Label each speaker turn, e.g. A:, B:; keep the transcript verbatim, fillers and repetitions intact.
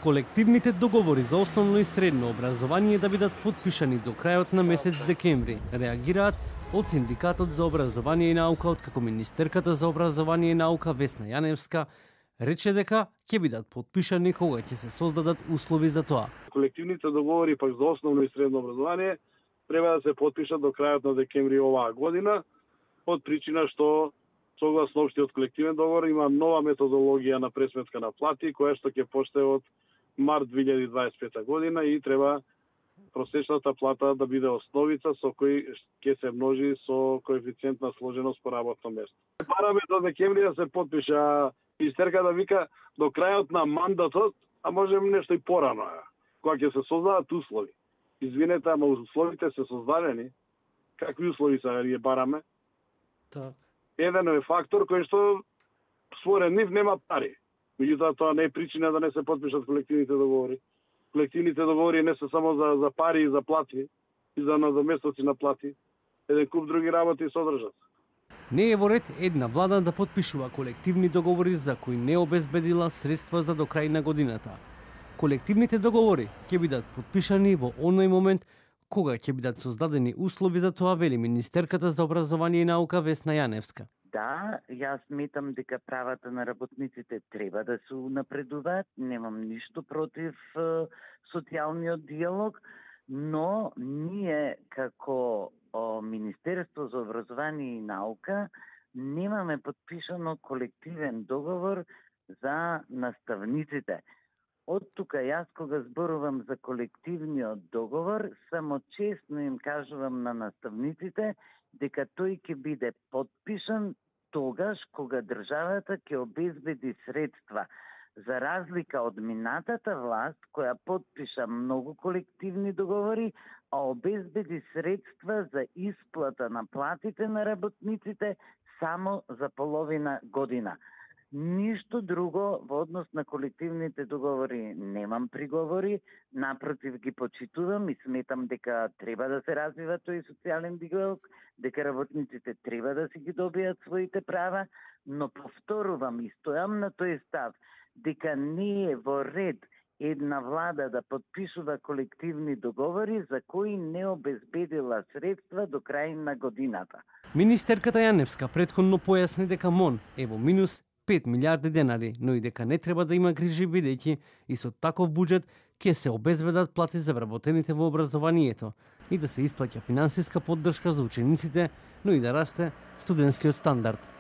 A: Колективните договори за основно и средно образование да бидат подпишани до крајот на месец декември, реагираат од Синдикатот за образование и наука, откако министерката за образование и наука Весна Јаневска рече дека ќе бидат подпишани кога ќе се создадат услови за тоа.
B: Колективните договори пак за основно и средно образование треба да се подпишат до крајот на декември оваа година, од причина што согласно општиот колективен договор има нова методологија на пресметка на плати, која што ќе почне од март две илјади дваесет и пета година и треба просечната плата да биде основица со кој ќе се множи со коефициент на сложеност по работно место. Бараме до декември да се подпиша, министерка да вика до крајот на мандатот, а можем нешто и порано, кога ќе се создадат услови. Извинете, ама условите се создадени. Какви услови са ги бараме?
A: Так.
B: Еден е фактор кој што според нив нема пари. Меѓутоа тоа не е причина да не се подпишат колективните договори. Колективните договори не се само за, за пари и за плати, и за надоместоци на плати. Еден куп други работи содржат.
A: Не е во ред една влада да подпишува колективни договори за кои не обезбедила средства за до крај на годината. Колективните договори ќе бидат подпишани во оној момент кога ќе бидат создадени услови за тоа, вели министерката за образование и наука Весна Јаневска.
C: Да, јас сметам дека правата на работниците треба да се унапредуваат, немам ништо против е, социјалниот диалог, но ние како о, Министерство за образование и наука немаме подпишано колективен договор за наставниците. Од тука јас кога зборувам за колективниот договор, само честно им кажувам на наставниците дека тој ќе биде подпишан тогаш кога државата ќе обезбеди средства. За разлика од минатата власт, која подпиша многу колективни договори, а обезбеди средства за исплата на платите на работниците само за половина година. Ништо друго во однос на колективните договори немам приговори, напротив ги почитувам и сметам дека треба да се развива тој социјален диалог, дека работниците треба да си ги добијат своите права, но повторувам и стојам на тој став дека не е во ред една влада да подпишува колективни договори за кои не обезбедила средства до крај на годината.
A: Министерката Јаневска претходно појасни дека МОН е во минус пет милиарди денари, но и дека не треба да има грижи бидејќи и со таков буџет ќе се обезбедат плати за вработените во образованието и да се исплаќа финансиска поддршка за учениците, но и да расте студентскиот стандард.